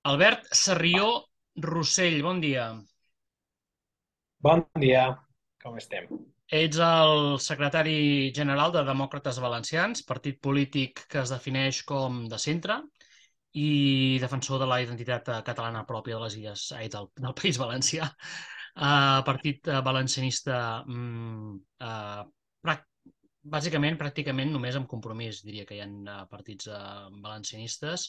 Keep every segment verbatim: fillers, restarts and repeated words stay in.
Albert Sarrió Rossell, bon dia. Bon dia, com estem? Ets el secretari general de Demòcrates Valencians, partit polític que es defineix com de centre i defensor de la identitat eh, catalana pròpia de les illes, ai, del, del País Valencià. Uh, partit uh, valencianista, mm, uh, prac- bàsicament, pràcticament només amb Compromís, diria que hi ha uh, partits uh, valencianistes.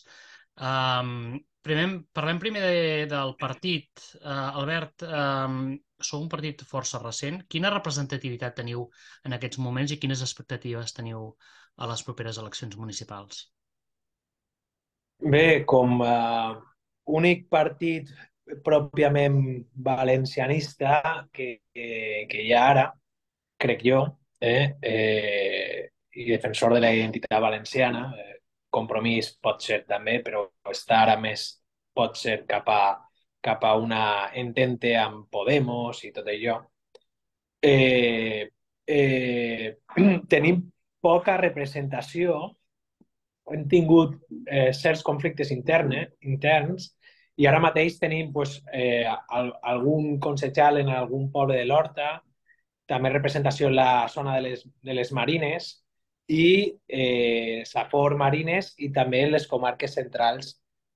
Um, primer, parlem primer de, del partit. Uh, Albert, um, sou un partit força recent. Quina representativitat teniu en aquests moments i quines expectatives teniu a les properes eleccions municipals? Bé, com a únic partit pròpiament valencianista que, que, que hi ha ara, crec jo, eh, eh, i defensor de la identitat valenciana, eh, Compromís pot ser també, però està ara més, pot ser cap a, cap a una entente amb Podemos i tot allò. Eh, eh, Tenim poca representació. Hem tingut eh, certs conflictes interne, interns i ara mateix tenim pues, eh, al, algun concejal en algun poble de l'Horta, també representació en la zona de les, de les Marines i eh, Safor Marines i també en les comarques centrals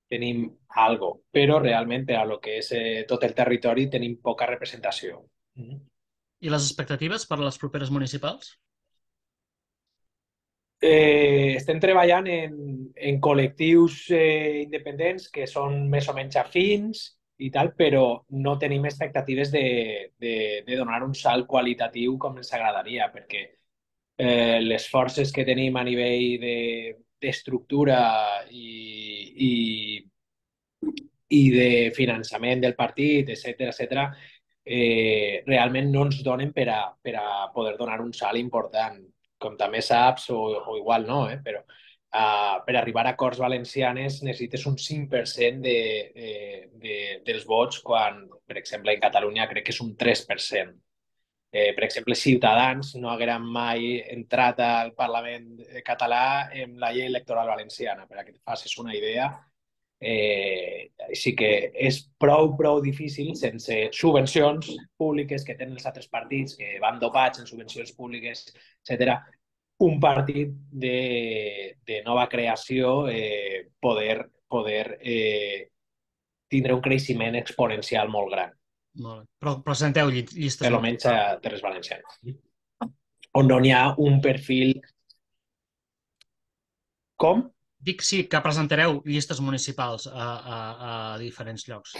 tenim algo, però realment per a lo que és eh, tot el territori tenim poca representació. Mm. I les expectatives per a les properes municipals? Eh, estem treballant en, en col·lectius eh, independents que són més o menys afins i tal, però no tenim expectatives de, de, de donar un salt qualitatiu com ens agradaria, perquè eh, les forces que tenim a nivell de, d'estructura i, i, i de finançament del partit, etcètera, etcètera, eh, realment no ens donen per a, per a poder donar un salt important. Com també saps, o, o igual no, eh, però uh, per arribar a Corts Valencianes necessites un cinc per cent de, de, de, dels vots, quan, per exemple, en Catalunya crec que és un tres per cent. Eh, per exemple, Ciutadans no hagueren mai entrat al Parlament català amb la llei electoral valenciana, per a que et facis una idea. Eh, així que és prou, prou difícil, sense subvencions públiques que tenen els altres partits, que van dopats en subvencions públiques, etcètera, un partit de, de nova creació eh, poder, poder eh, tindre un creixement exponencial molt gran, Molt bé. Però presenteu lli- per llistes almenys a municipals. Terres Valencianes, on no hi ha un perfil com. Dic sí, que presentareu llistes municipals a, a, a diferents llocs.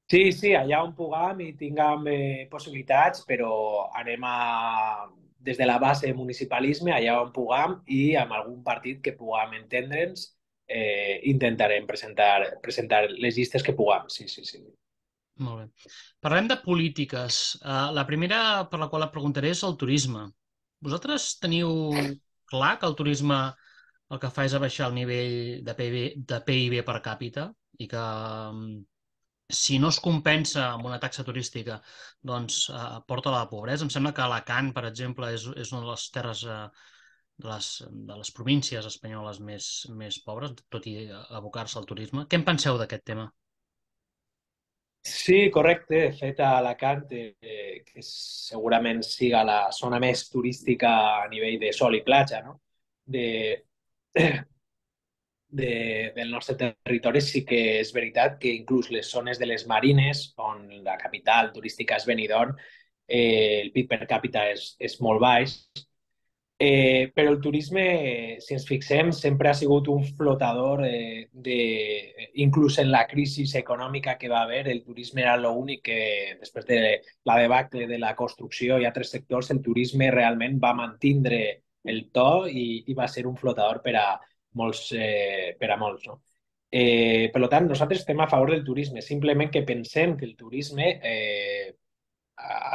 Sí, sí, allà on puguem i tinguem eh, possibilitats, però anem a, des de la base de municipalisme, allà on puguem i amb algun partit que puguem entendre'ns, eh, intentarem presentar, presentar les llistes que puguem. Sí, sí, sí. Molt bé. Parlem de polítiques. Uh, la primera per la qual et preguntaré és el turisme. Vosaltres teniu clar que el turisme el que fa és abaixar el nivell de P I B, de P I B per càpita i que mm, si no es compensa amb una taxa turística, doncs eh, porta a la pobresa. Em sembla que Alacant, per exemple, és, és una de les terres eh, de les, de les províncies espanyoles més, més pobres, tot i abocar-se al turisme. Què en penseu d'aquest tema? Sí, correcte. De fet, a Alacant, eh, que segurament siga la zona més turística a nivell de sol i platja, no? De, de, del nostre territori, sí que és veritat que inclús les zones de les Marines, on la capital turística és Benidorm, eh, el P I B per càpita és, és molt baix. Eh, però el turisme, si ens fixem, sempre ha sigut un flotador eh, de, inclús en la crisi econòmica que va haver, el turisme era l'únic que, després de la debacle de la construcció i altres sectors, el turisme realment va mantindre el to i, i va ser un flotador per a molts, eh, per a molts, no? Eh, per tant, nosaltres estem a favor del turisme, simplement que pensem que el turisme eh,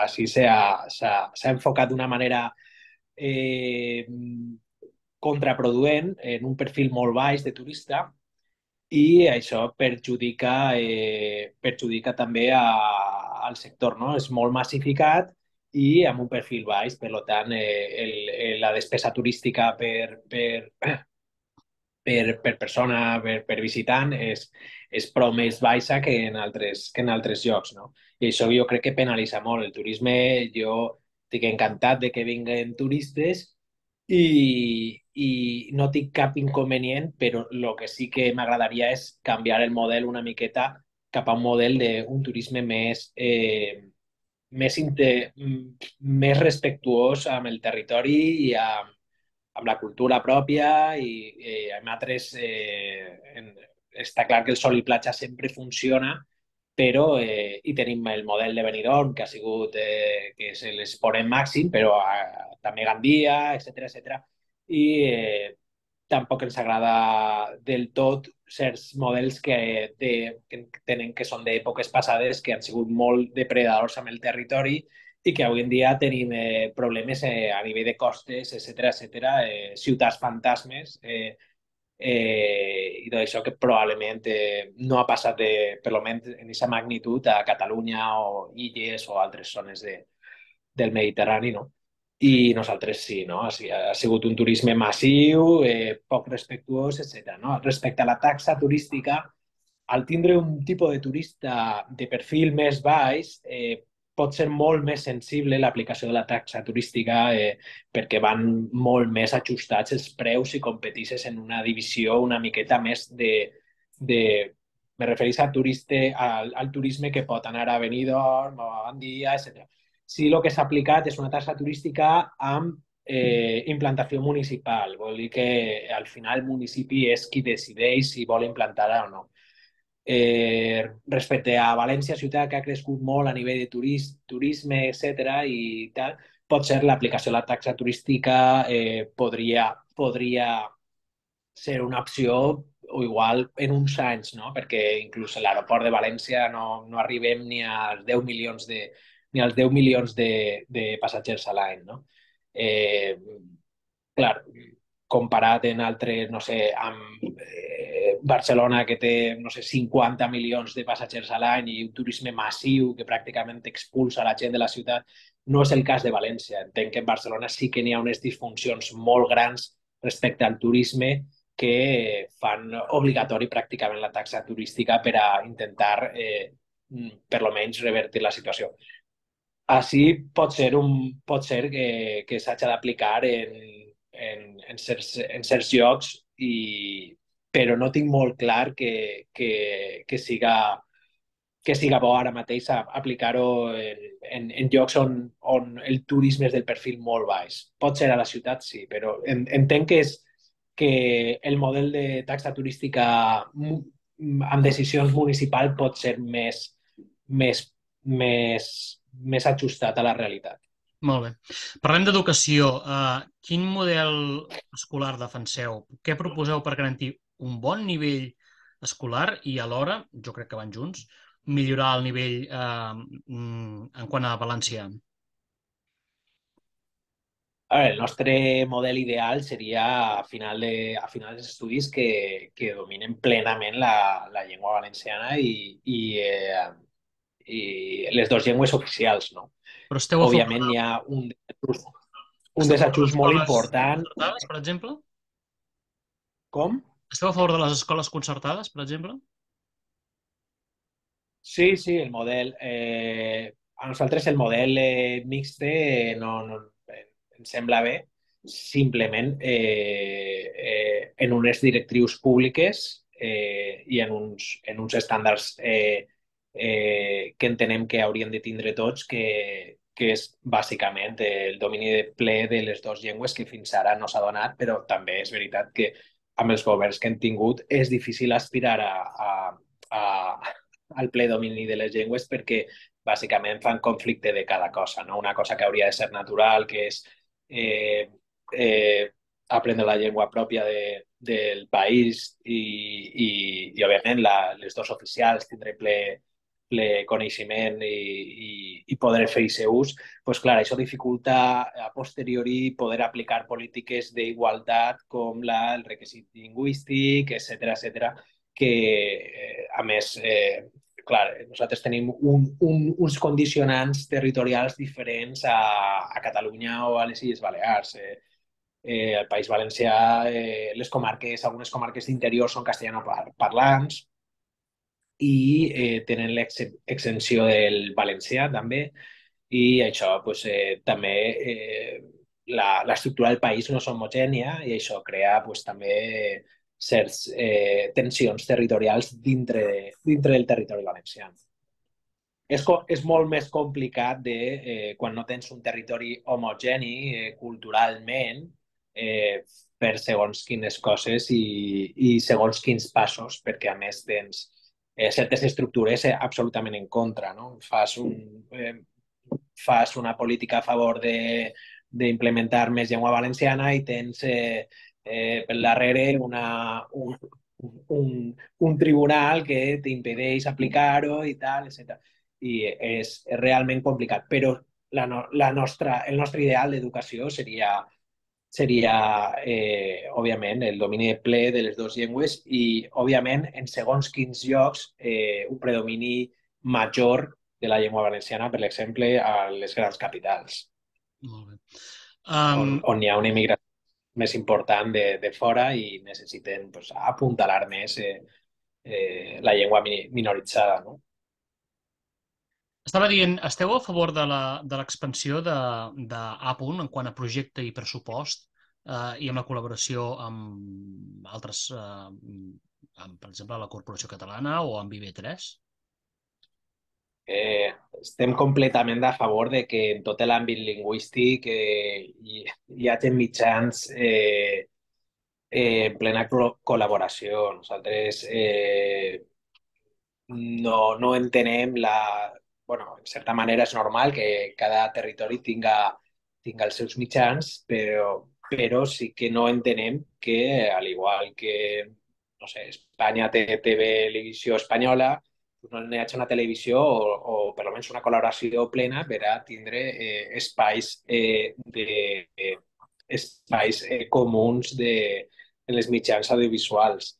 així s'ha enfocat d'una manera eh, contraproduent en un perfil molt baix de turista i això perjudica, eh, perjudica també a, al sector, no? És molt massificat i amb un perfil baix, per tant, eh, el, el, la despesa turística per, per, per, per persona, per, per visitant, és, és prou més baixa que en altres, que en altres llocs, no? I això jo crec que penalitza molt. El turisme, jo estic encantat de que vinguen turistes i, i no tinc cap inconvenient, però el que sí que m'agradaria és canviar el model una miqueta cap a un model d'un turisme més, eh, més, inte, més respectuós amb el territori i amb, amb la cultura pròpia i, i amb altres... Eh, en, està clar que el sol i platja sempre funciona, però eh, i tenim el model de Benidorm, que ha sigut eh, que és l'esporent màxim, però eh, també Gandia, etcètera etcètera. I eh, tampoc ens agrada del tot certs models que, de, que tenen que són d'èpoques passades que han sigut molt depredadors amb el territori i que avui en dia tenim eh, problemes eh, a nivell de costes, etcètera etcètera, eh, ciutats fantasmes, eh, eh, i d'això que probablement eh, no ha passat de, per almenys en aquesta magnitud a Catalunya o Illes o altres zones de, del Mediterrani, no? I nosaltres sí, no? Ha, ha sigut un turisme massiu, eh, poc respectuós, etcètera. No? Respecte a la taxa turística, al tindre un tipus de turista de perfil més baix, eh, pot ser molt més sensible l'aplicació de la taxa turística eh, perquè van molt més ajustats els preus si competisses en una divisió una miqueta més de... de me refereix al, turiste, al, al turisme que pot anar a Benidorm o a Gandia, etcètera. Si el que s'ha aplicat és una taxa turística amb eh, implantació municipal, vol dir que al final el municipi és qui decideix si vol implantar-la o no. Eh, respecte a València, ciutat que ha crescut molt a nivell de turis, turisme, etcètera i tal, pot ser l'aplicació de la taxa turística eh, podria, podria ser una opció o igual en uns anys, no? Perquè inclús a l'aeroport de València no, no arribem ni als deu milions de, ni als deu milions de, de passatgers a l'any, no? Eh, clar, comparat en altres, no sé, amb eh, Barcelona, que té, no sé, cinquanta milions de passatgers a l'any i un turisme massiu que pràcticament expulsa la gent de la ciutat, no és el cas de València. Entenc que en Barcelona sí que n'hi ha unes disfuncions molt grans respecte al turisme que fan obligatori pràcticament la taxa turística per a intentar, eh, per lo menys, revertir la situació. Així pot ser, un, pot ser que, que s'hagi d'aplicar en, en, en, certs, en certs llocs, i, però no tinc molt clar que, que, que, siga, que siga bo ara mateix aplicar-ho en, en, en llocs on, on el turisme és del perfil molt baix. Pot ser a la ciutat, sí, però en, entenc que, és, que el model de taxa turística amb decisions municipals pot ser més, més, més, més ajustat a la realitat. Molt bé. Parlem d'educació. Uh, quin model escolar defenseu? Què proposeu per garantir un bon nivell escolar i alhora, jo crec que van junts, millorar el nivell uh, en quant a valencià? A veure, el nostre model ideal seria a final de, a final dels estudis que, que dominen plenament la, la llengua valenciana i, i, eh, i les dues llengües oficials, no? Però esteu a favor Òbviament de, hi ha un, un esteu a favor de les desajust molt escoles important. concertades, per exemple? Com? Esteu a favor de les escoles concertades, per exemple? Sí, sí, el model. Eh, a nosaltres el model eh, mixte no, no, eh, ens sembla bé, simplement eh, eh, en unes directrius públiques eh, i en uns, en uns estàndards eh, eh, que entenem que haurien de tindre tots, que, que és bàsicament el domini de ple de les dues llengües que fins ara no s'ha donat, però també és veritat que amb els governs que hem tingut és difícil aspirar a, a, a al ple domini de les llengües perquè bàsicament fan conflicte de cada cosa, no? Una cosa que hauria de ser natural, que és eh, eh, aprendre la llengua pròpia de, del país i, i, i òbviament, la, les dos oficials tindre ple, ple coneixement i, i, i poder fer aquest ús, pues, clar, això dificulta a posteriori poder aplicar polítiques d'igualtat com la, el requisit lingüístic, etcètera etcètera que, eh, a més, eh, clar, nosaltres tenim un, un, uns condicionants territorials diferents a, a Catalunya o a les Illes Balears. Eh, Eh, al País Valencià, eh, les comarques, algunes comarques d'interior són castellanoparlants i eh, tenen l'exempció del valencià també, i això pues, eh, també eh, la- l'estructura del país no és homogènia i això crea pues, també certs eh, tensions territorials dintre, dintre del territori valencià. És, co- és molt més complicat de, eh, quan no tens un territori homogeni eh, culturalment, eh, per segons quines coses i, i segons quins passos, perquè a més tens eh, certes estructures eh, absolutament en contra, no? Fas, un, eh, fas una política a favor de d'implementar més llengua valenciana i tens eh, eh, pel darrere una, un, un, un tribunal que t'impedeix aplicar-ho i tal, etcètera. I és, és realment complicat, però la, no, la nostra, el nostre ideal d'educació seria, seria eh, òbviament, el domini ple de les dues llengües i, òbviament, en segons quins llocs, eh, un predomini major de la llengua valenciana, per exemple, a les grans capitals, Molt bé. on, Um, on hi ha una immigració més important de, de fora i necessiten pues, apuntalar més eh, eh, la llengua mi- minoritzada, no? Estava dient, esteu a favor de la, de l'expansió de, de Apunt en quant a projecte i pressupost eh, i amb la col·laboració amb altres, eh, amb, per exemple, la Corporació Catalana o amb I B tres? Eh, estem completament a favor de que en tot l'àmbit lingüístic eh, hi, hi hagi mitjans eh, eh, en plena col- col·laboració. Nosaltres eh, no, no entenem la... Bueno, en certa manera és normal que cada territori tinga, tinga els seus mitjans, però, però sí que no entenem que, al igual que, no sé, Espanya té televisió espanyola, pues no n'hi hagi una televisió o, o per almenys una col·laboració plena per a tindre eh, espais, eh, de, eh, espais eh, comuns de, en les mitjans audiovisuals.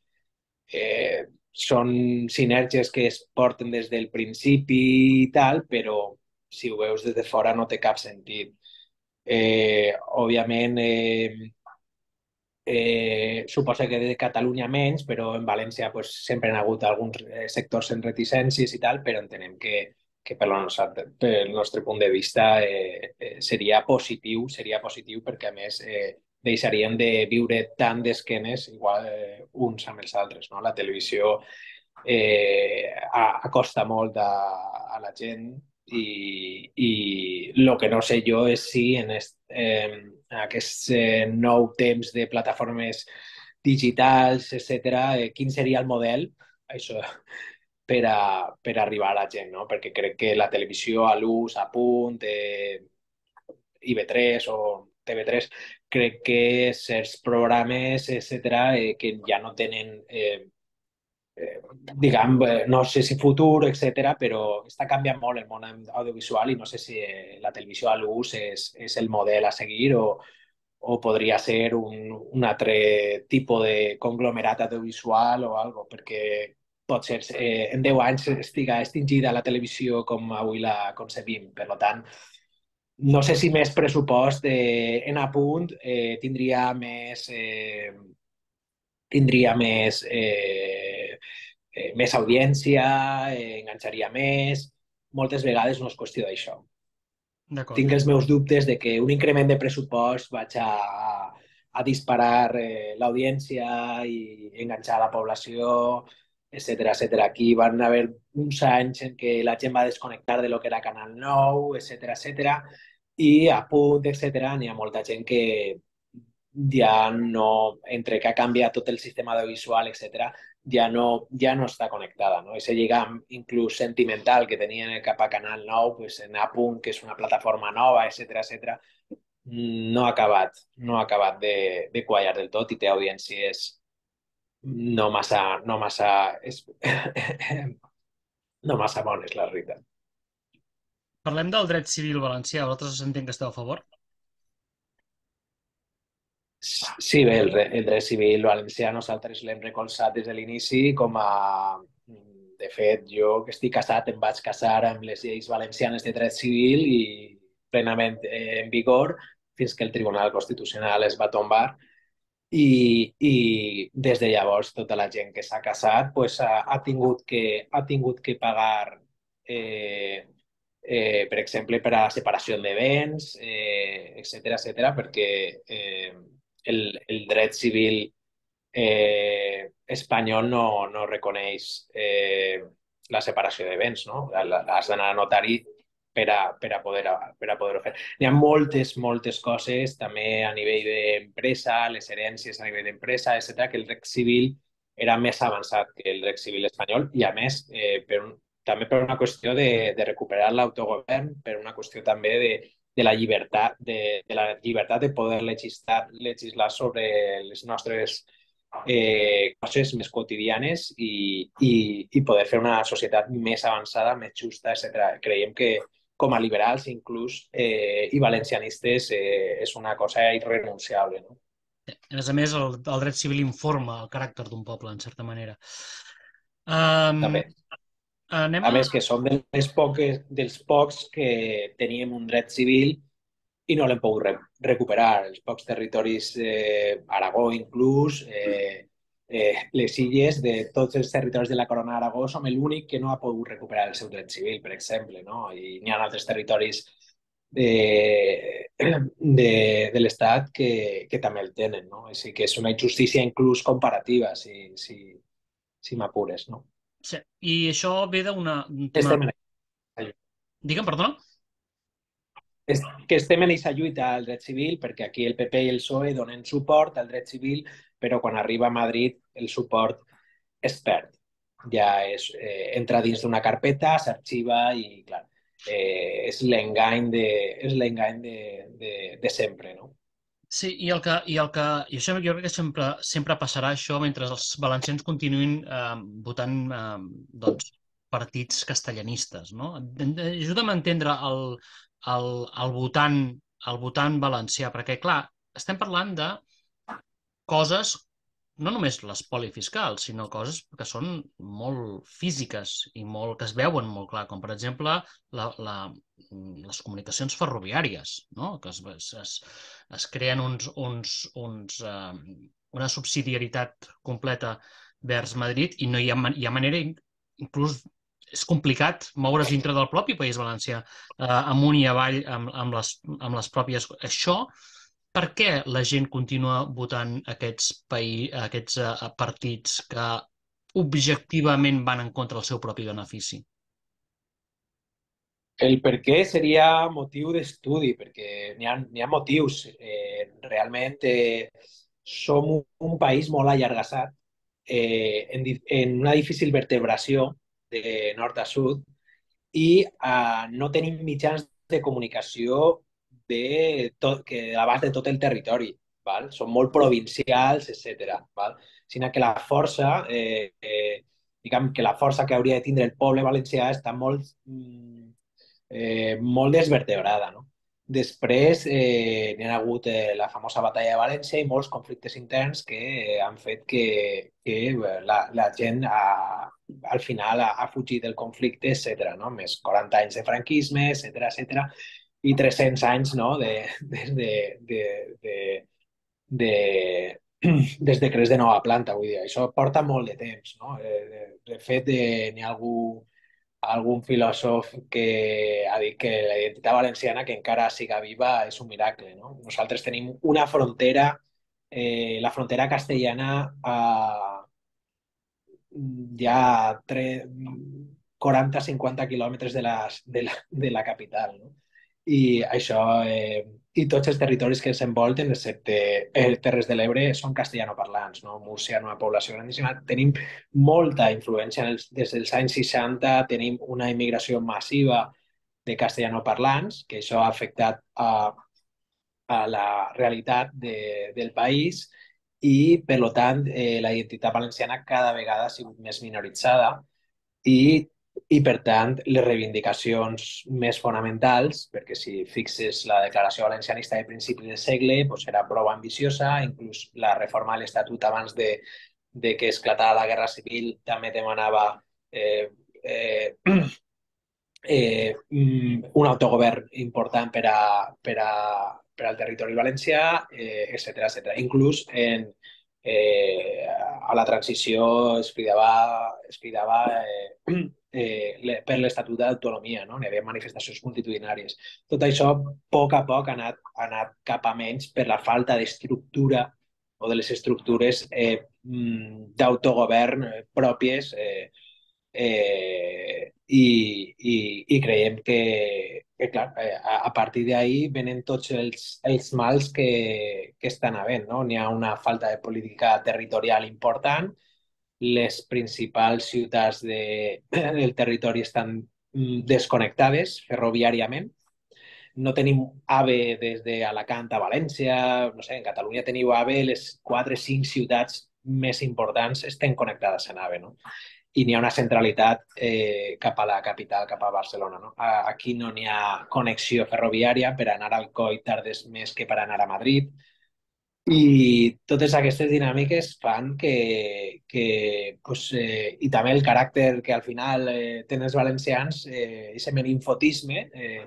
Eh, són sinergies que es porten des del principi i tal, però si ho veus des de fora no té cap sentit. Eh, òbviament, eh, eh, suposa que de Catalunya menys, però en València pues, sempre han hagut alguns eh, sectors en reticències i tal, però entenem que, que pel, nostre, pel nostre punt de vista eh, eh, seria positiu, seria positiu perquè a més eh, deixarien de viure tant d'esquenes igual eh, uns amb els altres. No? La televisió eh, acosta molt a, a la gent i, i el que no sé jo és si en, est, eh, en aquest eh, nou temps de plataformes digitals, etcètera, eh, quin seria el model això, per, a, per arribar a la gent, no? Perquè crec que la televisió a l'ús, a punt, eh, I B tres o T V tres, crec que certs programes, etcètera, eh, que ja no tenen eh, eh, diguem, eh, no sé si futur, etcètera, però està canviant molt el món audiovisual i no sé si eh, la televisió a l'ús és, és el model a seguir o, o podria ser un, un altre tipus de conglomerat audiovisual o algo, perquè pot ser eh, en deu anys estiga extingida la televisió com avui la concebim. Per tant, no sé si més pressupost eh, en apunt eh, tindria més, eh, tindria més eh, eh, més audiència, eh, enganxaria més. Moltes vegades no és qüestió d'això. D'acord. Tinc els meus dubtes de que un increment de pressupost vaig a, a disparar eh, l'audiència i enganxar la població, etcètera, etcètera. Aquí van haver uns anys en què la gent va desconnectar de lo que era Canal nou, etcètera, etcètera, i a punt, etcètera, n'hi ha molta gent que ja no, entre que ha canviat tot el sistema audiovisual, etcètera, ja no, ja no està connectada. No? Ese lligam inclús sentimental que tenien cap a Canal nou, pues, en Apunt, que és una plataforma nova, etcètera, etcètera, no ha acabat, no ha acabat de, de quallar del tot i té audiències no massa, no massa, és, no massa bones, la veritat. Parlem del dret civil valencià. Vosaltres entenc que esteu a favor? Sí, bé, el, el dret civil valencià nosaltres l'hem recolzat des de l'inici com a... De fet, jo que estic casat em vaig casar amb les lleis valencianes de dret civil i plenament eh, en vigor fins que el Tribunal Constitucional es va tombar i, i des de llavors tota la gent que s'ha casat pues, ha, ha, tingut que, ha tingut que pagar, eh, eh, per exemple, per a la separació de béns, eh, etcètera, etcètera, perquè eh, el, el dret civil eh, espanyol no, no reconeix eh, la separació de béns, no? Has d'anar a notari per a, per a poder, per a poder fer. Hi ha moltes, moltes coses, també a nivell d'empresa, les herències a nivell d'empresa, etcètera, que el dret civil era més avançat que el dret civil espanyol i, a més, eh, per un, també per una qüestió de, de recuperar l'autogovern, per una qüestió també de, de la llibertat de, de la llibertat de poder legislar, legislar sobre les nostres eh, coses més quotidianes i, i, i poder fer una societat més avançada, més justa, etcètera. Creiem que com a liberals inclús eh, i valencianistes eh, és una cosa irrenunciable. No? A més a més, el, el dret civil informa el caràcter d'un poble, en certa manera. Um, També. anem A a... més, que som dels, poques, dels pocs que teníem un dret civil i no l'hem pogut re recuperar. Els pocs territoris, eh, Aragó inclús, eh, eh, les illes, de tots els territoris de la Corona d'Aragó, som l'únic que no ha pogut recuperar el seu dret civil, per exemple, no? I n'hi ha altres territoris de, de, de l'Estat que, que també el tenen, no? Així que és una injustícia inclús comparativa, si, si, si m'apures, no? Sí, i això ve d'un tema... Estem en Digue'm, perdona? és que estem en aquesta lluita al dret civil perquè aquí el P P i el P S O E donen suport al dret civil, però quan arriba a Madrid el suport es perd. Ja és, eh, entra dins d'una carpeta, s'arxiva i, clar, eh, és l'engany de, és l'engany de, de, de sempre, no? Sí, i el que, i el que, i això jo crec que sempre, sempre passarà això mentre els valencians continuïn eh, votant eh, doncs, partits castellanistes, no? Ajuda'm a entendre el, el, el votant, el votant valencià, perquè, clar, estem parlant de coses, no només l'espoli fiscal, sinó coses que són molt físiques i molt, que es veuen molt clar, com per exemple la, la, les comunicacions ferroviàries, no? Que es, es, es creen uns, uns, uns, uh, una subsidiarietat completa vers Madrid i no hi ha, hi ha manera, inclús és complicat moure's dintre del propi País Valencià, eh, amunt i avall amb, amb, les, amb les pròpies... Això per què la gent continua votant aquests, país, aquests uh, partits que objectivament van en contra del seu propi benefici? El per què seria motiu d'estudi, perquè n'hi ha, n'hi ha motius. Eh, realment eh, som un, un país molt allargassat, eh, en, en una difícil vertebració de nord a sud i eh, no tenim mitjans de comunicació de tot, que a l'abast de tot el territori. Val? Són molt provincials, etcètera. Val? Sinó que la força, eh, eh, diguem que la força que hauria de tindre el poble valencià està molt... Mm, eh, molt desvertebrada. No? Després eh, n'hi ha hagut eh, la famosa batalla de València i molts conflictes interns que eh, han fet que, que eh, la, la gent ha, al final ha, ha fugit del conflicte, etcètera. No? Més quaranta anys de franquisme, etcètera, etcètera, i tres-cents anys no? de, de, de, de, de, de des decrets de nova planta, vull dir, això porta molt de temps, no? Eh, de, de fet, eh, n'hi ha algú algun filòsof que ha dit que la identitat valenciana, que encara siga viva, és un miracle. No? Nosaltres tenim una frontera, eh, la frontera castellana a ja quaranta cinquanta quilòmetres de la, de la, de la capital. No? I això, eh, i tots els territoris que ens envolten, excepte eh, Terres de l'Ebre, són castellanoparlants. No? Múrcia, una població grandíssima. Tenim molta influència. Els, des dels anys seixanta tenim una immigració massiva de castellanoparlants, que això ha afectat a, a la realitat de, del país i, per tant, eh, la identitat valenciana cada vegada ha sigut més minoritzada i, i, per tant, les reivindicacions més fonamentals, perquè si fixes la declaració valencianista de principi de segle, doncs era prou ambiciosa, inclús la reforma de l'Estatut abans de, de que esclatara la Guerra Civil també demanava eh, eh, eh, un autogovern important per, a, per, a, per al territori valencià, eh, etcètera, etcètera. Inclús en, eh, a la transició es cridava, es cridava eh, eh, per l'Estatut d'Autonomia, no? Hi havia manifestacions multitudinàries. Tot això, a poc a poc, ha anat, ha anat cap a menys per la falta d'estructura o de les estructures eh, d'autogovern pròpies eh, eh, i, i, i creiem que, que clar, eh, a, a partir d'ahí venen tots els, els mals que, que estan havent, no? N'hi ha una falta de política territorial important, les principals ciutats de, del territori estan mm, desconnectades ferroviàriament, no tenim AVE des d'Alacant a València, no sé, en Catalunya teniu AVE, les quatre o cinc ciutats més importants estan connectades en AVE, no? I n'hi ha una centralitat eh, cap a la capital, cap a Barcelona. No? Aquí no n'hi ha connexió ferroviària, per anar al Coi tardes més que per anar a Madrid, i totes aquestes dinàmiques fan que, que pues, eh, i també el caràcter que al final eh, tenen els valencians, eh, ese meninfotisme, eh,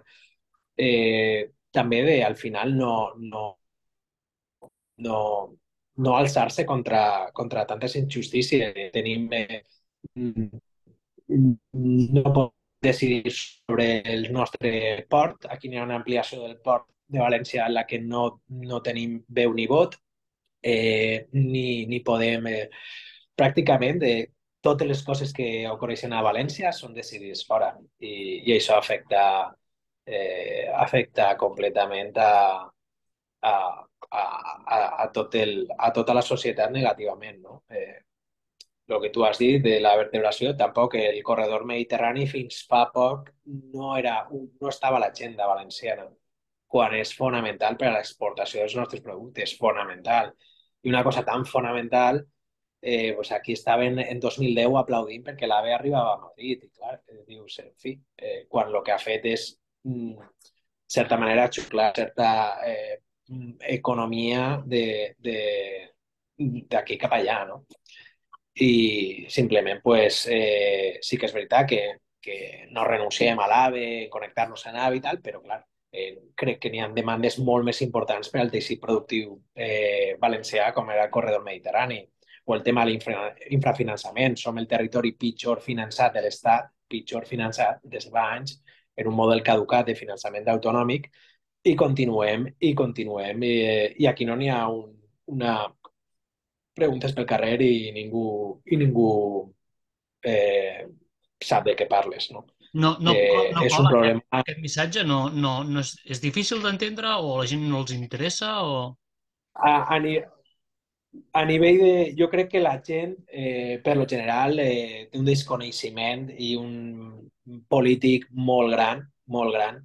eh, també de, al final no, no, no, no alçar-se contra, contra tantes injustícies. Tenim eh, no pot decidir sobre el nostre port. Aquí hi ha una ampliació del port de València en la que no, no tenim veu ni vot, eh, ni, ni podem... Eh, pràcticament de totes les coses que ocorreixen a València són decidides fora i, i això afecta, eh, afecta completament a, a, a, a, a, tot el, a tota la societat negativament, no? Eh, el que tu has dit de la vertebració, tampoc el corredor mediterrani fins fa poc no, era, no estava a l'agenda valenciana, quan és fonamental per a l'exportació dels nostres productes, fonamental. I una cosa tan fonamental, eh, pues aquí estaven en dos mil deu aplaudint perquè l'AVE arribava a Madrid. I clar, eh, dius, en fi, eh, quan el que ha fet és, mm, de certa manera, xuclar certa eh, economia de, de, d'aquí cap allà, no? I simplement pues, eh, sí que és veritat que, que no renunciem a l'AVE, connectar-nos a l'AVE i tal, però clar, eh, crec que n'hi ha demandes molt més importants per al teixit productiu eh, valencià, com era el corredor mediterrani, o el tema de l'infrafinançament. Som el territori pitjor finançat de l'Estat, pitjor finançat des de fa anys, en un model caducat de finançament autonòmic, i continuem, i continuem, i, i aquí no n'hi ha un, una preguntes pel carrer i ningú, i ningú eh, sap de què parles, no? No, no, co- Eh, no és un cola aquest, problema. aquest missatge? No, no, no és, és difícil d'entendre o a la gent no els interessa? O... A, a, ni- a nivell de... Jo crec que la gent, eh, per lo general, eh, té un desconeixement i un polític molt gran, molt gran,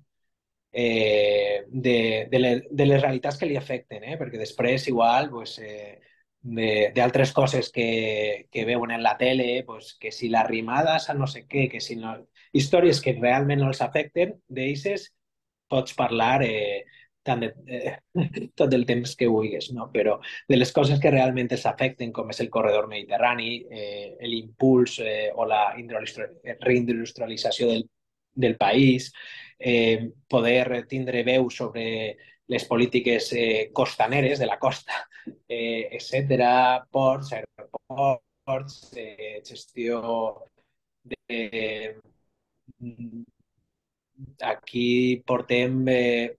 eh, de, de, les, de les realitats que li afecten, eh? Perquè després igual pues, eh, d'altres coses que, que veuen en la tele, pues, que si les rimades a no sé què, que si no... Històries que realment no els afecten, d'eixes pots parlar eh, tant de, eh, tot el temps que vulguis, no? Però de les coses que realment els afecten, com és el corredor mediterrani, eh, l'impuls eh, o la reindustrialització del, del país, eh, poder tindre veu sobre les polítiques eh, costaneres de la costa, eh, etcètera, ports, aeroports, eh, gestió de... Aquí portem eh,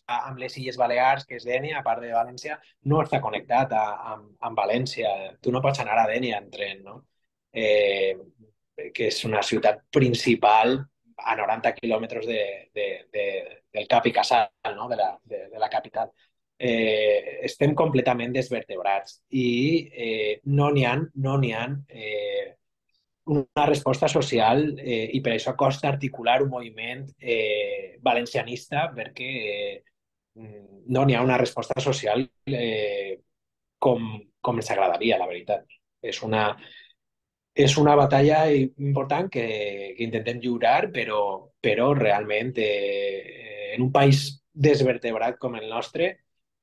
amb les Illes Balears, que és Dènia, a part de València, no està connectat a, amb, amb València. Tu no pots anar a Dènia en tren, no? Eh, que és una ciutat principal a noranta quilòmetres de, de, de, del cap i casal, no? de, la, de, de la capital. Eh, estem completament desvertebrats i eh, no n'hi ha, no n'hi ha eh, una resposta social eh, i per això costa articular un moviment eh, valencianista perquè eh, no n'hi ha una resposta social eh, com, com ens agradaria, la veritat. És una, és una batalla important que, que intentem lliurar, però, però realment eh, en un país desvertebrat com el nostre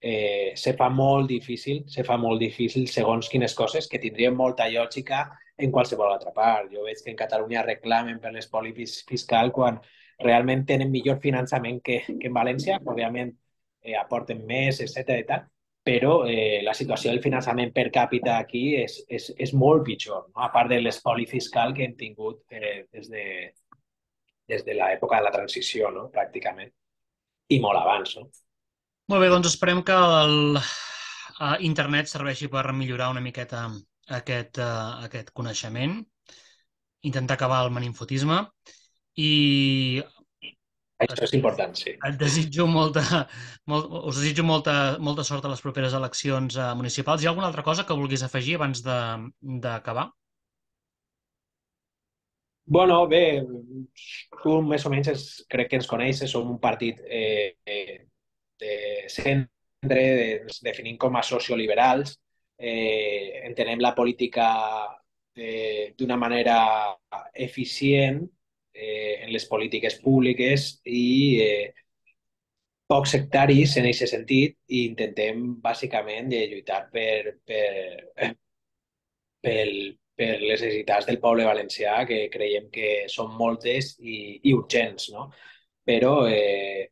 eh, se fa molt difícil, se fa molt difícil segons quines coses que tindrien molta lògica en qualsevol altra part. Jo veig que en Catalunya reclamen per l'espoli fiscal quan realment tenen millor finançament que, que en València, òbviament eh, aporten més, etcètera i tal, però eh, la situació del finançament per càpita aquí és, és, és molt pitjor, no? A part de l'espoli fiscal que hem tingut eh, des de, des de l'època de la transició, no? Pràcticament, i molt abans, no? Molt bé, doncs esperem que el uh, internet serveixi per millorar una miqueta aquest, uh, aquest coneixement, intentar acabar el meninfotisme i Això és important, sí. et desitjo molta, molt, us desitjo molta, molta sort a les properes eleccions uh, municipals. Hi ha alguna altra cosa que vulguis afegir abans de- d'acabar? Bueno, bé, tu més o menys es, crec que ens coneixes, som un partit eh, eh, de centre, de, ens definim com a socioliberals, eh, entenem la política eh, d'una manera eficient eh, en les polítiques públiques i eh, poc sectaris en aquest sentit i intentem bàsicament eh, lluitar per, per, pel, per les necessitats del poble valencià, que creiem que són moltes i, i urgents, no? Però eh,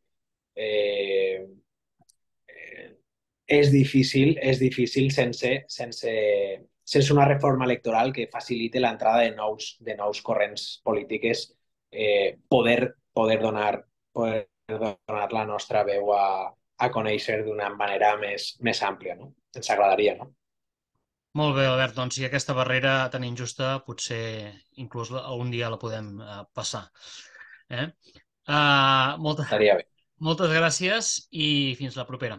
eh, eh, és difícil, és difícil sense, sense, sense una reforma electoral que facilite l'entrada de nous, de nous corrents polítiques, eh, poder, poder, donar, poder donar la nostra veu a, a conèixer d'una manera més, més àmplia, no? Ens agradaria, no? Molt bé, Albert, doncs si aquesta barrera tan injusta potser inclús la- algun dia la podem uh, passar. Eh? Uh, molta, Estaria bé. moltes gràcies i fins la propera.